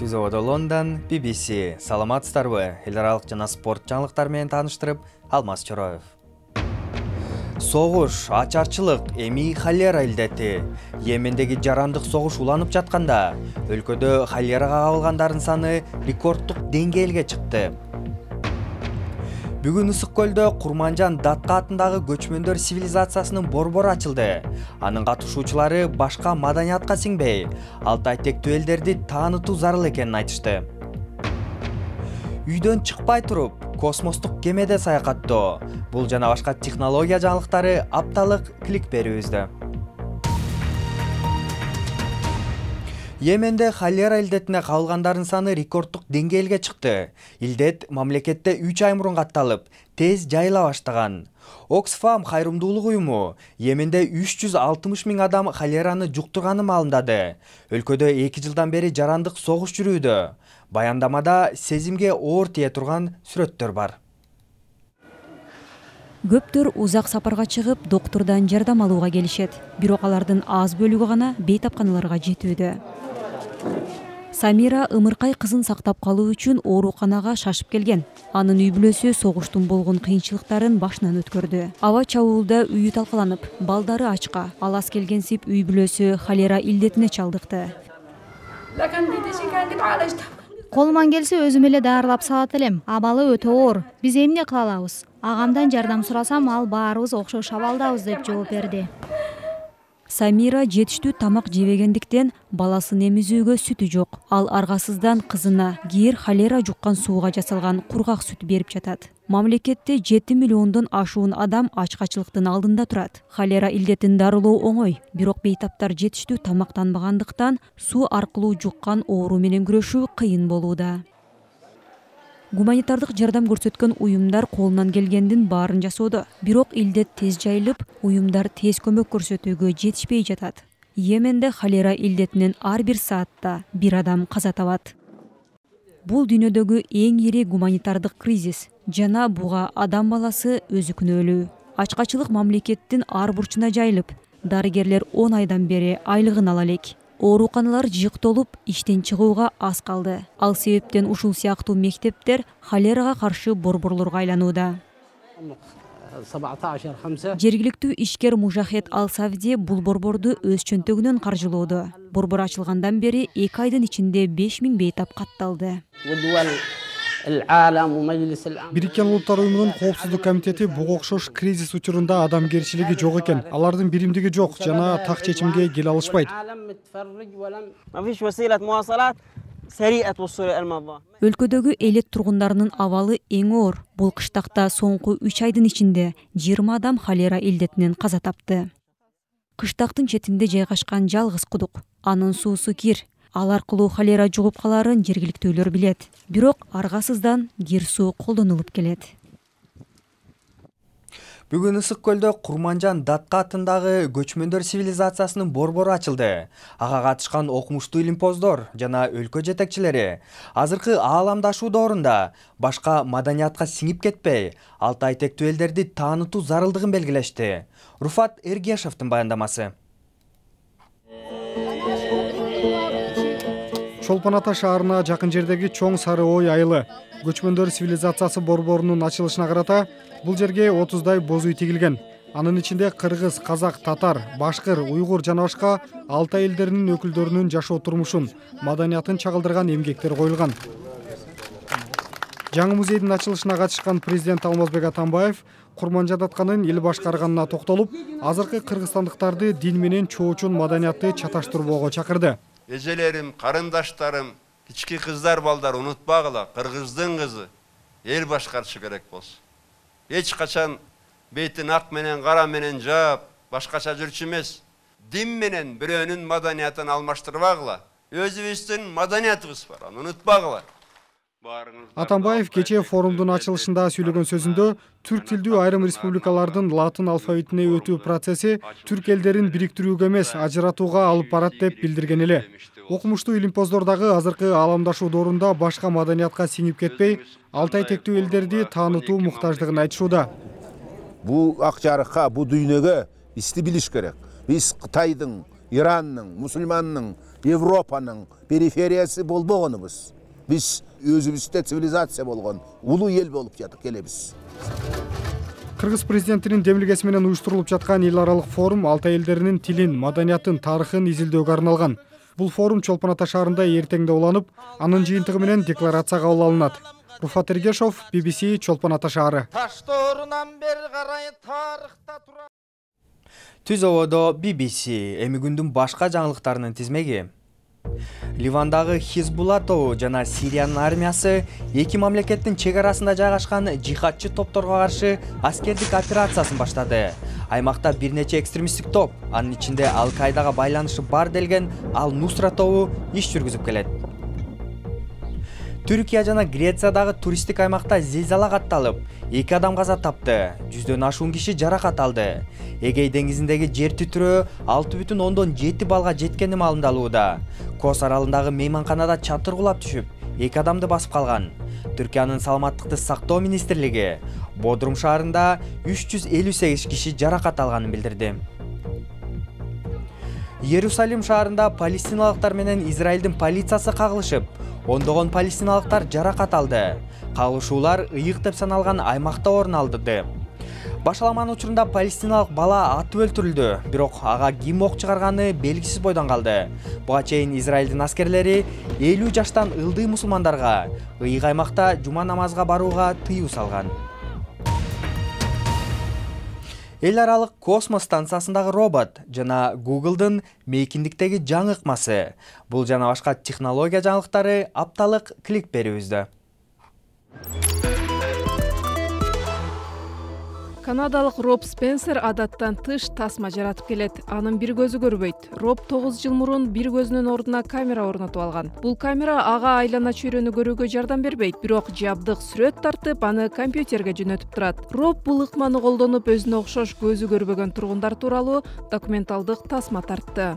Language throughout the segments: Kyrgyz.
Түзөөдө Лондон, BBC. Саламатсыздарбы? Эл аралык жана спорт жаңылыктары менен тааныштырып, Алмаз Чороев. Согуш, ачарчылык, эми холера илдети. Йемендеги жарандык согуш уланып жатканда, өлкөдө холерага кабылгандардын саны рекорддук деңгээлге чыкты. Бүгүн Ысык көлдө Курманжан Датка атындагы көчмөндөр цивилизациясынын борбору ачылды. Анын катышуучулары башка маданиятка сиңбей, Алтай тектүү элдерди таанытуу зарыл экенин айтышты. Үйдөн чыкпай туруп, космостук кемеде саякаттоо. Бул жана башка технология жаңылыктары апталык клик берүүбүздө. Йеменде холера илдетине кабылгандардын саны рекорддук деңгээлге чыкты. Илдет мамлекетте 3 ай мурун катталып, тез жайыла баштаган. Оксфам кайрымдуулук уюму Йеменде 360 000 адам холераны жуктурганын маалымдады. Өлкөдө 2 жылдан бери жарандык согуш жүрүүдө. Баяндамада сезимге оор тие турган сүрөттөр бар. Көптөр узак сапарга чыгып, доктурдан жардам алууга келишет. Бирок алардын аз бөлүгү гана бейтапканаларга жетүүдө. Самира ымыркай кызын сактап калуу үчүн ооруканага шашып келген. Анын үй бүлөсү согуштун болгон кыйынчылыктарын башынан өткөрдү. Аба чабуулда үйү талкаланып, балдары ачка. Алас келгенсип үй бүлөсү холера илдетине чалдыкты. Колуман келсе өзүм эле даарылап салат элем. Абалы өтө оор. Биз эмне кыла алабыз? Агамдан жардам сурасам, ал баарыбыз окшош абалдабыз деп жооп берди. Самира жетиштүү тамак жебегендиктен баласын эмизүүгө сүтү жок. Ал аргасыздан кызына кийер холера жуккан сууга жасалган кургак сүт берип жатат. Мамлекетте 7 миллиондон ашуун адам ачкачылыктын алдында турат. Холера илдетин дарылоо оңой, бирок бейтаптар жетиштүү тамактанбагандыктан суу аркылуу жуккан оору менен күрөшүү кыйын болууда. Гуманитардык жардам көрсөткөн уюмдар колунан келгендин баарын жасоодо. Бирок илдет тез жайылып, уюмдар тез көмөк көрсөтүүгө жетишпей жатат. Йеменде холера илдетинен ар бир саатта бир адам каза табат. Бул дүйнөдөгү эң ири гуманитардык кризис жана буга адам баласы өзү күнөөлүү. Ачкачылык мамлекеттин ар бурчуна жайылып, дарыгерлер 10 айдан бери айлыгын ала элек. Ооруканалар жыктолуп, иштен чыгууга аз калды. Ал себептен ушул сыяктуу мектептер холерага каршы борборлорго айланууда. Жергиликтүү ишкер Мужахет Ал-Савди бул борборду өз чөнтөгүнөн каржылоодо. Борбор ачылгандан бери 2 айдын ичинде 5000 бейтап катталды. Бириккен Улуттар уюмунун коопсуздук комитети буга окшош кризис учурунда адамгерчилиги жок экен. Алардын биримдиги жок жана так чечимге келе алышпайт. Өлкөдөгү элет тургундарынын абалы эң оор. Бул кыштакта соңку 3 айдын ичинде 20 адам холера илдетинен каза тапты. Кыштактын четинде жайгашкан жалгыз кудук. Анын суусу кир. Ал аркылуу холера жугуп каларын жергиликтүүлөр билет. Бирок аргасыздан кир суу колдонулуп келет. Бүгүн Ысык көлдө Курманжан Датка атындагы көчмөндөр цивилизациясынын борбору ачылды. Ага катышкан окумуштуу илимпоздор жана өлкө жетекчилери азыркы ааламдашуу доорунда башка маданиятка сиңип кетпей, Алтай тектүү элдерди таанытуу зарылдыгын белгилешти. Руфат Эргешевдин баяндамасы. Чолпон Ата шаарына жакын жердеги чоң Сары Ой айылы көчмөндөр цивилизациясы борборунун ачылышына карата бул жерге 30дай боз үй тигилген. Анын ичинде кыргыз, казак, татар, башкыр, уйгур жана башка Алтай элдеринин өкүлдөрүнүн жашоо турмушун, маданиятын чагылдырган эмгектер коюлган. Жаңы музейдин ачылышына катышкан президент Алмазбек Атамбаев Курманжан Датканын эл башкарганына токтолуп, азыркы кыргызстандыктарды дин менен чоочун маданиятты чаташтырбоого чакырды. Эжелерим, карындаштарым, кички кыздар, балдар унутпагыла, кыргыздын кызы эл башкарышы керек болсун. Эч качан бетин ак менен, кара менен жаап, башкача жүрчү эмес. Дин менен бирөөнүн маданиятын алмаштырбагыла. Өзүбүздүн маданиятыбыз бар, аны унутпагыла. Атамбаев кечээ форумдун ачылышында сүйлөгөн сөзүндө түрк тилдүү айрым республикалардын латын алфавитине өтүү процесси түрк элдерин бириктирүүгө эмес, ажыратууга алып барат деп билдирген эле. Окумуштуу илимпоздор дагы азыркы ааламдашуу доорунда башка маданиятка сиңип кетпей, Алтай тектүү элдерди таанытуу муктаждыгын айтышууда. Бул ак жарыкка, бул дүйнөгө бизди билиш керек. Биз Кытайдын Иранның, мусульманның, Европаның перифериясы болбогонубуз. Биз өзүбүздө цивилизация болгон улуу эл болуп келебиз. Кыргыз президентинин демилгеси менен уюштурулуп жаткан эл аралык форум Алтай элдеринин тилин, маданиятын, тарыхын изилдөөгө арналган. Бул форум Чолпон Ата шаарында эртеңде уланып, анын жыйынтыгы менен декларация кабыл алынат. Руфат Эргешов, BBC, Чолпон Ата шаары. Түз ободо BBC, эми күндүн башка жаңылыктарынын тизмеги. Ливандагы Хизбулла тобу жана Сириянын армиясы эки мамлекеттин чек арасында жайгашкан жихадчы топторго каршы аскердик операциясын баштады. Аймакта бир нече экстремисттик топ, анын ичинде Ал-Каидага байланышы бар делген Ал-Нусра тобу иш жүргүзүп келет. Түркия жана Грециядагы туристтик аймакта зилзала катталып, 2 адам каза тапты, 100дөн ашуун киши жаракат алды. Эгей деңизиндеги жер титирөө 6,7 балга жеткени маалымдалууда. Кос аралындагы мейманканада чатыр кулап түшүп, 2 адамды басып калган. Түркиянын саламаттыкты сактоо министрлиги Бодрум шаарында 358 киши жаракат алганын билдирди. Иерусалим шаарында палестиналыктар менен Израилдин полициясы кагылышып, ондогон палестиналыктар жаракат алды. Кагылышуулар ыйык деп саналган аймакта орун алды. Башаламан учурунда палестиналык бала атып өлтүрүлдү, бирок ага ким ок чыгарганы белгисиз бойдон калды. Буга чейин Израилдин аскерлери 50 жаштан ылдый мусулмандарга ыйык аймакта жума намазга барууга тыюу салган. Эл аралык космос станциясындагы робот жана Google'дын мейкиндиктеги жаңы ыкмасы. Бул жана башка технология жаңылыктары апталык клик берүүбүздө. Канадалык Роб Спенсер адаттан тыш тасма жаратып келет. Анын бир көзү көрбөйт. Роб 9 жыл мурун бир көзүнүн ордуна камера орнотуп алган. Бул камера ага айлана чөйрөнү көрүүгө жардам бербейт, бирок жабдык сүрөт тартып, аны компьютерге жөнөтүп турат. Роб бул ыкманы колдонуп, өзүнө окшош көзү көрбөгөн тургундар тууралуу документалдык тасма тартты.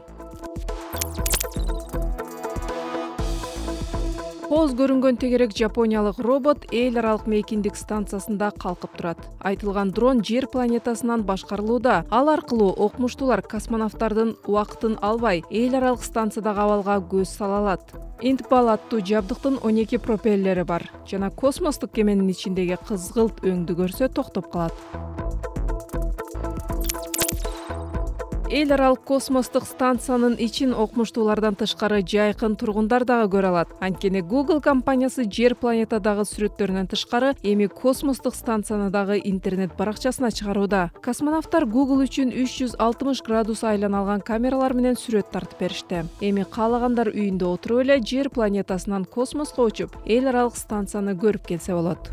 Коз көрүнгөн тегерек жапониялык робот эл аралык мейкиндик станциясында калкып турат. Айтылган дрон жер планетасынан башкарылууда. Ал аркылуу окумуштуулар космонавттардын убактын албай, эл аралык станциядагы абалга көз сала алат. Интбал аттуу жабдыктын 12 пропеллери бар жана космостук кеменин ичиндеги кызгылт өңдү көрсө токтоп калат. Эл аралык космостук станциянын ичин окумуштуулардан тышкары жайкын тургундар дагы көрө алат. Анткени Google компаниясы жер планетадагы сүрөттөрүнөн тышкары эми космостук станцияны дагы интернет баракчасына чыгарууда. Космонавттар Google үчүн 360 градус айлана алган камералар менен сүрөт тартып беришти. Эми каалагандар үйүндө отуруп эле жер планетасынан космоско учуп, эл аралык станцияны көрүп келсе болот.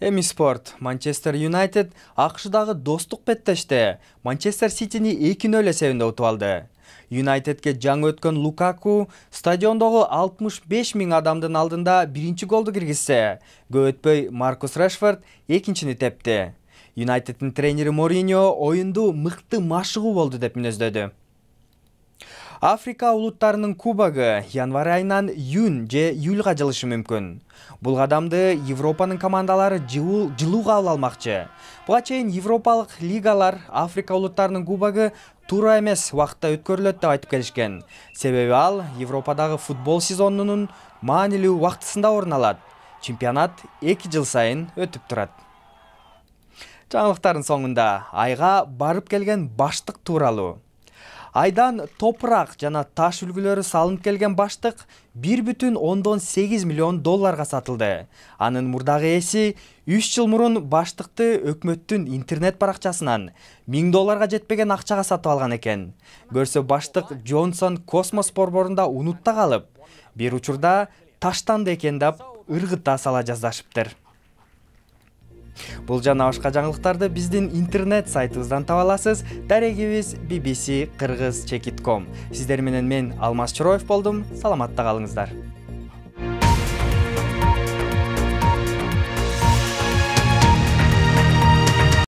Эми спорт. Манчестер Юнайтед АКШдагы достук беттеште Манчестер Ситини 2-0 эсебинде утуп алды. Юнайтедке жаңы өткөн Лукаку стадиондогу 65 000 адамдын алдында биринчи голду киргизсе, көп өтпөй Маркус Решфорд экинчини тепти. Юнайтеддин тренери Мориньо оюнду мыкты машыгуу болду деп мүнөздөдү. Африка улуттарынын кубогу январь айынан июнь же июлга жылышы мүмкүн. Бул кадамды Европанын командалары жылууга ала алмакчы. Буга чейин европалык лигалар Африка улуттарынын кубогу туура эмес убакытта өткөрүлөт деп айтып келишкен. Себеби ал Европадагы футбол сезонунун маанилүү убактысында орун алат. Чемпионат 2 жыл сайын өтүп турат. Жаңылыктардын соңунда айга барып келген баштык тууралуу. Айдан топурак жана таш үлгүлөрү салынып келген баштык 1,8 миллион долларга сатылды. Анын мурдагы ээси 3 жыл мурун баштыкты өкмөттүн интернет баракчасынан 1000 долларга жетпеген акчага сатып алган экен. Көрсө баштык Джонсон космос борборунда унутта калып, бир учурда таштанды экен деп ыргыта сала жаздашыптыр. Бул жана башка жаңылыктарды биздин интернет сайтыбыздан таба аласыз. Дарегибиз bbc-kyrgyz.com. Сиздер менен мен Алмаз Чороев болдум. Саламатта калыңыздар.